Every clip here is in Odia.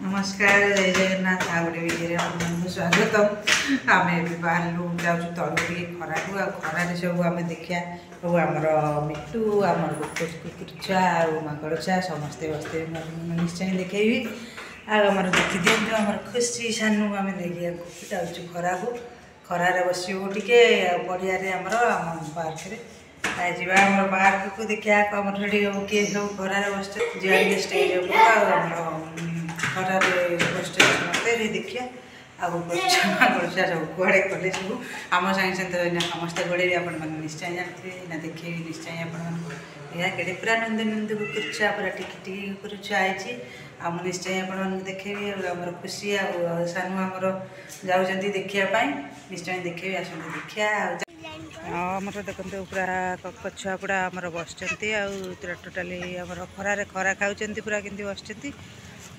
ନମସ୍କାର, ଜୟ ଜଗନ୍ନାଥ। ଆଉ ଗୋଟେ ଭିଡ଼ିଓରେ ଆପଣମାନଙ୍କୁ ସ୍ୱାଗତ। ଆମେ ଏବେ ବାହାରିଲୁ, ଯାଉଛୁ ତଳକୁ ଟିକେ ଖରାକୁ। ଆଉ ଖରାରେ ସବୁ ଆମେ ଦେଖିବା ସବୁ ଆମର ମିଟୁ, ଆମର କୁକୁର ଛୁଆ ଆଉ ମାଙ୍କଡ଼ ଛୁଆ ସମସ୍ତେ ବସିଥିବେ। ମୁଁ ଆପଣଙ୍କୁ ନିଶ୍ଚୟ ଦେଖେଇବି। ଆଉ ଆମର ଦେଖିଦିଅନ୍ତୁ ଆମର ଖୁସି ସାନୁ। ଆମେ ଦେଖିବାକୁ ଯାଉଛୁ ଖରାକୁ, ଖରାରେ ବସିବୁ ଟିକେ ଆଉ ପଡ଼ିଆରେ ଆମର ଆମ ପାର୍କରେ ଯିବା। ଆମର ପାର୍କକୁ ଦେଖିବା, ଆମର ସେଠି କିଏ ସବୁ ଖରାରେ ବସିଛନ୍ତି। ଯିବା ଟିକେ ଷ୍ଟେଜ୍ ଉପରକୁ, ଆଉ ଆମର ଖରାରେ ବସିଛନ୍ତି ସମସ୍ତେ, ଦେଖିବା। ଆଉ ମାଙ୍କଡ଼ ଛୁଆ ସବୁ କୁଆଡ଼େ ଗଲେ? ସବୁ ଆମ ସାଙ୍ଗେ ସାଙ୍ଗେ ଏଇନା ସମସ୍ତେ ଗୋଡ଼େଇବେ, ଆପଣମାନେ ନିଶ୍ଚୟ ଜାଣିଥିବେ। ଏଇନା ଦେଖେଇବି ନିଶ୍ଚୟ ଆପଣମାନଙ୍କୁ। ଏହା କେଡ଼େ ପୁରା ନନ୍ଦୁ ନନ୍ଦୁ କୁକୁର ଛୁଆ, ପୁରା ଟିକି ଟିକି କୁକୁର ଛୁଆ ହେଇଛି। ଆଉ ମୁଁ ନିଶ୍ଚୟ ଆପଣମାନଙ୍କୁ ଦେଖେଇବି। ଆଉ ଆମର ଖୁସି ଆଉ ସାନୁ ଆମର ଯାଉଛନ୍ତି ଦେଖିବା ପାଇଁ, ନିଶ୍ଚୟ ଦେଖେଇବି, ଆସନ୍ତୁ ଦେଖିବା। ଆଉ ଆମର ଦେଖନ୍ତୁ ପୁରା କକ ଛୁଆ ପୁରା ଆମର ବସିଛନ୍ତି, ଆଉ ପୁରା ଟୋଟାଲି ଆମର ଖରାରେ ଖରା ଖାଉଛନ୍ତି, ପୁରା କେମିତି ବସିଛନ୍ତି।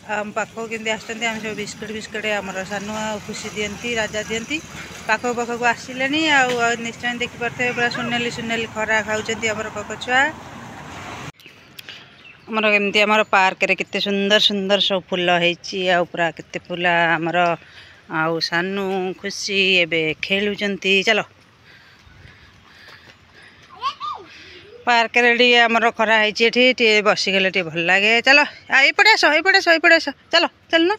ଆଉ ଆମ ପାଖକୁ କେମିତି ଆସୁଛନ୍ତି। ଆମେ ସବୁ ବିସ୍କୁଟ୍ ବିସ୍କୁଟ୍ ଆମର ସାନୁ ଆଉ ଖୁସି ଦିଅନ୍ତି, ରାଜା ଦିଅନ୍ତି। ପାଖକୁ ପାଖକୁ ଆସିଲେଣି। ଆଉ ନିଶ୍ଚୟ ଦେଖିପାରୁଥିବେ, ପୁରା ସୁନେଲି ସୁନେଲି ଖରା ଖାଉଛନ୍ତି ଆମର କକ ଛୁଆ। ଆମର କେମିତି ଆମର ପାର୍କରେ କେତେ ସୁନ୍ଦର ସୁନ୍ଦର ସବୁ ଫୁଲ ହେଇଛି, ଆଉ ପୁରା କେତେ ଫୁଲ ଆମର। ଆଉ ସାନୁ ଖୁସି ଏବେ ଖେଳୁଛନ୍ତି। ଚାଲ, ପାର୍କରେ ଟିକେ ଆମର ଖରା ହେଇଛି, ଏଠି ଟିକେ ବସିଗଲେ ଟିକେ ଭଲ ଲାଗେ। ଚାଲ, ଏଇପଟେ ଆସ, ଏଇପଟେ ଆସ, ଏଇପଟେ ଆସ, ଚାଲ ଚାଲୁନ।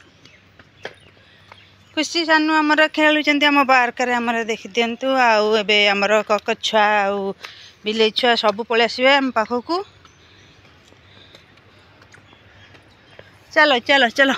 ଖୁସି ସାନୁ ଆମର ଖେଳୁଛନ୍ତି ଆମ ପାର୍କରେ ଆମର, ଦେଖିଦିଅନ୍ତୁ। ଆଉ ଏବେ ଆମର କକ ଛୁଆ ଆଉ ବିଲେଇ ଛୁଆ ସବୁ ପଳେଇ ଆସିବେ ଆମ ପାଖକୁ। ଚାଲ ଚାଲ ଚାଲ।